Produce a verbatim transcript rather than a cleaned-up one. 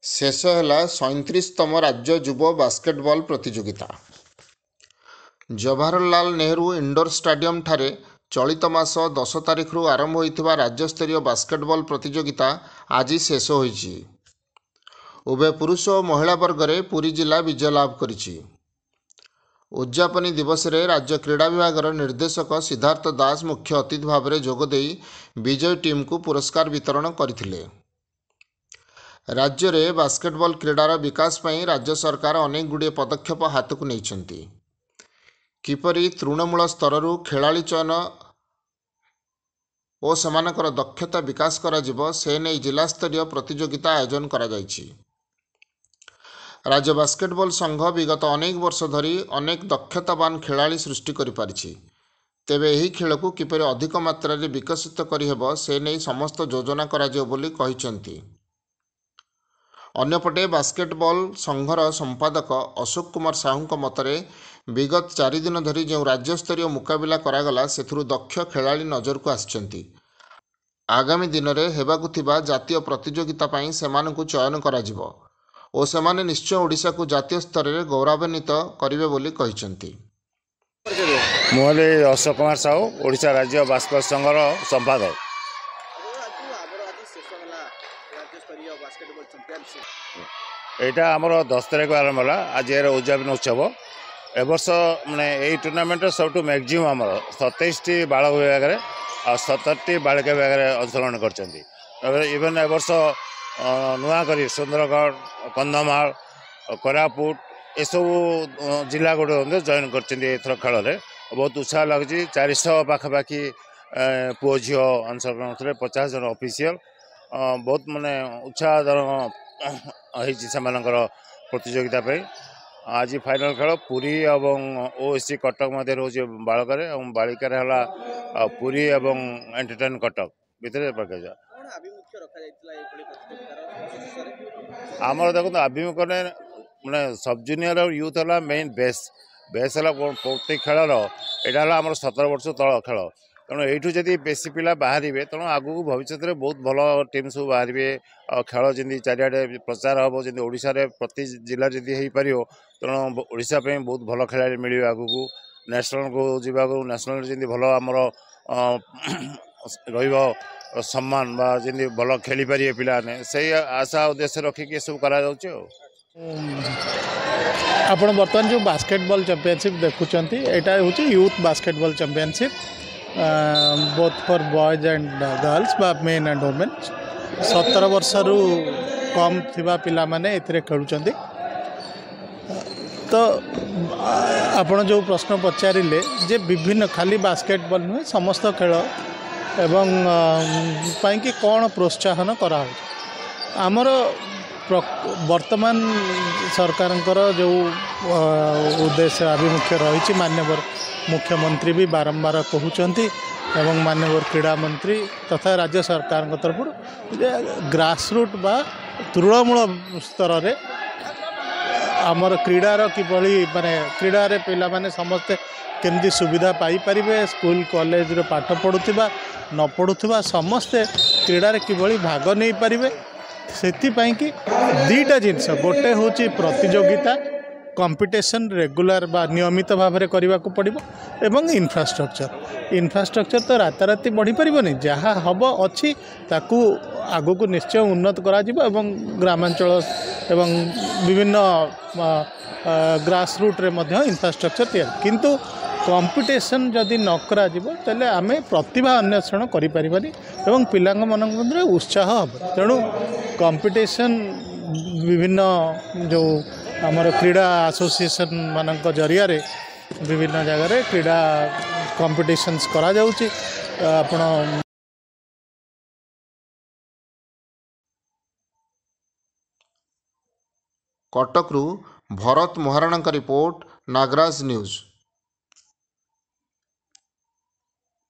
ଶେଷ ହେଲା ସଇଁତିରିଶତମ ରାଜ୍ୟ ଯୁବ ବାସ୍କେଟବଲ୍ ପ୍ରତିଯୋଗିତା। ଜବାହରଲାଲ ନେହେରୁ ଇଣ୍ଡୋର ଷ୍ଟାଡିୟମଠାରେ ଚଳିତ ମାସ ଦଶ ତାରିଖରୁ ଆରମ୍ଭ ହୋଇଥିବା ରାଜ୍ୟସ୍ତରୀୟ ବାସ୍କେଟବଲ୍ ପ୍ରତିଯୋଗିତା ଆଜି ଶେଷ ହୋଇଛି। ଉଭୟ ପୁରୁଷ ଓ ମହିଳା ବର୍ଗରେ ପୁରୀ ଜିଲ୍ଲା ବିଜୟ ଲାଭ କରିଛି। ଉଦ୍ଯାପନୀ ଦିବସରେ ରାଜ୍ୟ କ୍ରୀଡ଼ା ବିଭାଗର ନିର୍ଦ୍ଦେଶକ ସିଦ୍ଧାର୍ଥ ଦାସ ମୁଖ୍ୟ ଅତିଥି ଭାବରେ ଯୋଗଦେଇ ବିଜୟୀ ଟିମ୍କୁ ପୁରସ୍କାର ବିତରଣ କରିଥିଲେ। ରାଜ୍ୟରେ ବାସ୍କେଟବଲ୍ କ୍ରୀଡ଼ାର ବିକାଶ ପାଇଁ ରାଜ୍ୟ ସରକାର ଅନେକ ଗୁଡ଼ିଏ ପଦକ୍ଷେପ ହାତକୁ ନେଇଛନ୍ତି। କିପରି ତୃଣମୂଳ ସ୍ତରରୁ ଖେଳାଳି ଚୟନ ଓ ସେମାନଙ୍କର ଦକ୍ଷତା ବିକାଶ କରାଯିବ, ସେ ନେଇ ଜିଲ୍ଲାସ୍ତରୀୟ ପ୍ରତିଯୋଗିତା ଆୟୋଜନ କରାଯାଇଛି। ରାଜ୍ୟ ବାସ୍କେଟବଲ୍ ସଂଘ ବିଗତ ଅନେକ ବର୍ଷ ଧରି ଅନେକ ଦକ୍ଷତାବାନ ଖେଳାଳି ସୃଷ୍ଟି କରିପାରିଛି। ତେବେ ଏହି ଖେଳକୁ କିପରି ଅଧିକ ମାତ୍ରାରେ ବିକଶିତ କରିହେବ, ସେ ନେଇ ସମସ୍ତ ଯୋଜନା କରାଯିବ ବୋଲି କହିଛନ୍ତି। ଅନ୍ୟପଟେ ବାସ୍କେଟବଲ୍ ସଂଘର ସମ୍ପାଦକ ଅଶୋକ କୁମାର ସାହୁଙ୍କ ମତରେ ବିଗତ ଚାରିଦିନ ଧରି ଯେଉଁ ରାଜ୍ୟସ୍ତରୀୟ ମୁକାବିଲା କରାଗଲା, ସେଥିରୁ ଦକ୍ଷ ଖେଳାଳି ନଜରକୁ ଆସିଛନ୍ତି। ଆଗାମୀ ଦିନରେ ହେବାକୁ ଥିବା ଜାତୀୟ ପ୍ରତିଯୋଗିତା ପାଇଁ ସେମାନଙ୍କୁ ଚୟନ କରାଯିବ ଓ ସେମାନେ ନିଶ୍ଚୟ ଓଡ଼ିଶାକୁ ଜାତୀୟ ସ୍ତରରେ ଗୌରବାନ୍ୱିତ କରିବେ ବୋଲି କହିଛନ୍ତି। ମୁଁ ହେଲି ଅଶୋକ କୁମାର ସାହୁ, ଓଡ଼ିଶା ରାଜ୍ୟ ବାସ୍କେଟ ସଂଘର ସମ୍ପାଦକ। ଏଇଟା ଆମର ଦଶ ତାରିଖ ଆରମ୍ଭ ହେଲା, ଆଜି ଏହାର ଉଦ୍ଯାପନୀ ଉତ୍ସବ। ଏ ବର୍ଷ ମାନେ ଏଇ ଟୁର୍ଣ୍ଣାମେଣ୍ଟର ସବୁଠୁ ମ୍ୟାକ୍ସିମମ୍ ଆମର ସତେଇଶଟି ବାଳକ ବିଭାଗରେ ଆଉ ସତରଟି ବାଳିକା ବିଭାଗରେ ଅଂଶଗ୍ରହଣ କରିଛନ୍ତି। ଇଭେନ୍ ଏ ବର୍ଷ ନୂଆ କରି ସୁନ୍ଦରଗଡ଼, କନ୍ଧମାଳ, କୋରାପୁଟ ଏସବୁ ଜିଲ୍ଲା ଗୁଡ଼ିକ ମଧ୍ୟ ଜଏନ୍ କରିଛନ୍ତି ଏଥର ଖେଳରେ। ବହୁତ ଉତ୍ସାହ ଲାଗୁଛି। ଚାରିଶହ ପାଖାପାଖି ପୁଅ ଝିଅ ଅଂଶଗ୍ରହଣ କରିଥିଲେ, ପଚାଶ ଜଣ ଅଫିସିଆଲ। ବହୁତ ମାନେ ଉତ୍ସାହଜନକ ହେଇଛି ସେମାନଙ୍କର ପ୍ରତିଯୋଗିତା ପାଇଁ। ଆଜି ଫାଇନାଲ୍ ଖେଳ ପୁରୀ ଏବଂ ଓ ଏସ୍ ସି କଟକ ମଧ୍ୟରେ ହେଉଛି ବାଳକରେ, ଏବଂ ବାଳିକାରେ ହେଲା ପୁରୀ ଏବଂ ଏଣ୍ଟରଟେନ୍ କଟକ ଭିତରେ। ଆମର ଦେଖନ୍ତୁ, ଆଭିମୁଖ୍ୟ ମାନେ ସବ୍ ଜୁନିୟର ଆଉ ୟୁଥ୍ ହେଲା ମେନ୍ ବେସ୍। ବେସ୍ ହେଲା ପ୍ରତ୍ୟେକ ଖେଳର। ଏଇଟା ହେଲା ଆମର ସତର ବର୍ଷ ତଳ ଖେଳ। ତେଣୁ ଏଇଠୁ ଯଦି ବେଶୀ ପିଲା ବାହାରିବେ, ତେଣୁ ଆଗକୁ ଭବିଷ୍ୟତରେ ବହୁତ ଭଲ ଟିମ୍ ସବୁ ବାହାରିବେ। ଆଉ ଖେଳ ଯେମିତି ଚାରିଆଡ଼େ ପ୍ରଚାର ହେବ, ଯେମିତି ଓଡ଼ିଶାରେ ପ୍ରତି ଜିଲ୍ଲାରେ ଯଦି ହେଇପାରିବ, ତେଣୁ ଓଡ଼ିଶା ପାଇଁ ବହୁତ ଭଲ ଖେଳାଳି ମିଳିବେ ଆଗକୁ। ନ୍ୟାସନାଲ୍କୁ ଯିବାକୁ, ନ୍ୟାସନାଲ୍ରେ ଯେମିତି ଭଲ ଆମର ରହିବ ସମ୍ମାନ ବା ଯେମିତି ଭଲ ଖେଳିପାରିବେ ପିଲାମାନେ, ସେଇ ଆଶା ଉଦ୍ଦେଶ୍ୟ ରଖିକି ଏସବୁ କରାଯାଉଛି। ଆଉ ଆପଣ ବର୍ତ୍ତମାନ ଯେଉଁ ବାସ୍କେଟବଲ୍ ଚାମ୍ପିଅନସିପ୍ ଦେଖୁଛନ୍ତି, ଏଇଟା ହେଉଛି youth basketball championship, both for boys and girls ବା ମେନ୍ ଆଣ୍ଡ ଓମେନ୍। ସତର ବର୍ଷରୁ କମ୍ ଥିବା ପିଲାମାନେ ଏଥିରେ ଖେଳୁଛନ୍ତି। ତ ଆପଣ ଯେଉଁ ପ୍ରଶ୍ନ ପଚାରିଲେ ଯେ ବିଭିନ୍ନ ଖାଲି ବାସ୍କେଟବଲ୍ ନୁହେଁ, ସମସ୍ତ ଖେଳ ଏବଂ ପାଇଁକି କ'ଣ ପ୍ରୋତ୍ସାହନ କରାହେଉଛି, ଆମର ବର୍ତ୍ତମାନ ସରକାରଙ୍କର ଯେଉଁ ଉଦ୍ଦେଶ୍ୟ ଆଭିମୁଖ୍ୟ ରହିଛି, ମାନ୍ୟବର ମୁଖ୍ୟମନ୍ତ୍ରୀ ବି ବାରମ୍ବାର କହୁଛନ୍ତି ଏବଂ ମାନ୍ୟବର କ୍ରୀଡ଼ା ମନ୍ତ୍ରୀ ତଥା ରାଜ୍ୟ ସରକାରଙ୍କ ତରଫରୁ ଯେ ଗ୍ରାସରୁଟ୍ ବା ତୃଣମୂଳ ସ୍ତରରେ ଆମର କ୍ରୀଡ଼ାର କିଭଳି ମାନେ କ୍ରୀଡ଼ାରେ ପିଲାମାନେ ସମସ୍ତେ କେମିତି ସୁବିଧା ପାଇପାରିବେ, ସ୍କୁଲ କଲେଜରେ ପାଠ ପଢ଼ୁଥିବା ନ ପଢ଼ୁଥିବା ସମସ୍ତେ କ୍ରୀଡ଼ାରେ କିଭଳି ଭାଗ ନେଇପାରିବେ, ସେଥିପାଇଁକି ଦୁଇଟା ଜିନିଷ। ଗୋଟେ ହେଉଛି ପ୍ରତିଯୋଗିତା, କମ୍ପିଟିସନ୍ ରେଗୁଲାର ବା ନିୟମିତ ଭାବରେ କରିବାକୁ ପଡ଼ିବ ଏବଂ ଇନଫ୍ରାଷ୍ଟ୍ରକ୍ଚର। ଇନଫ୍ରାଷ୍ଟ୍ରକ୍ଚର ତ ରାତାରାତି ବଢ଼ିପାରିବନି, ଯାହା ହେବ ଅଛି ତାକୁ ଆଗକୁ ନିଶ୍ଚୟ ଉନ୍ନତ କରାଯିବ ଏବଂ ଗ୍ରାମାଞ୍ଚଳ ଏବଂ ବିଭିନ୍ନ ଗ୍ରାସ ରୁଟ୍ରେ ମଧ୍ୟ ଇନଫ୍ରାଷ୍ଟ୍ରକ୍ଚର ତିଆରି। କିନ୍ତୁ କମ୍ପିଟିସନ୍ ଯଦି ନ କରାଯିବ, ତାହେଲେ ଆମେ ପ୍ରତିଭା ଅନ୍ୱେଷଣ କରିପାରିବାନି ଏବଂ ପିଲାଙ୍କ ମାନଙ୍କ ମଧ୍ୟରେ ଉତ୍ସାହ ହେବ। ତେଣୁ କମ୍ପିଟିସନ୍ ବିଭିନ୍ନ ଯେଉଁ ଆମର କ୍ରୀଡ଼ା ଆସୋସିଏସନ୍ ମାନଙ୍କ ଜରିଆରେ ବିଭିନ୍ନ ଜାଗାରେ କ୍ରୀଡ଼ା କମ୍ପିଟିସନ୍ସ କରାଯାଉଛି। ଆପଣ କଟକରୁ ଭରତ ମହାରଣାଙ୍କ ରିପୋର୍ଟ, ନାଗରାଜ ନ୍ୟୁଜ୍।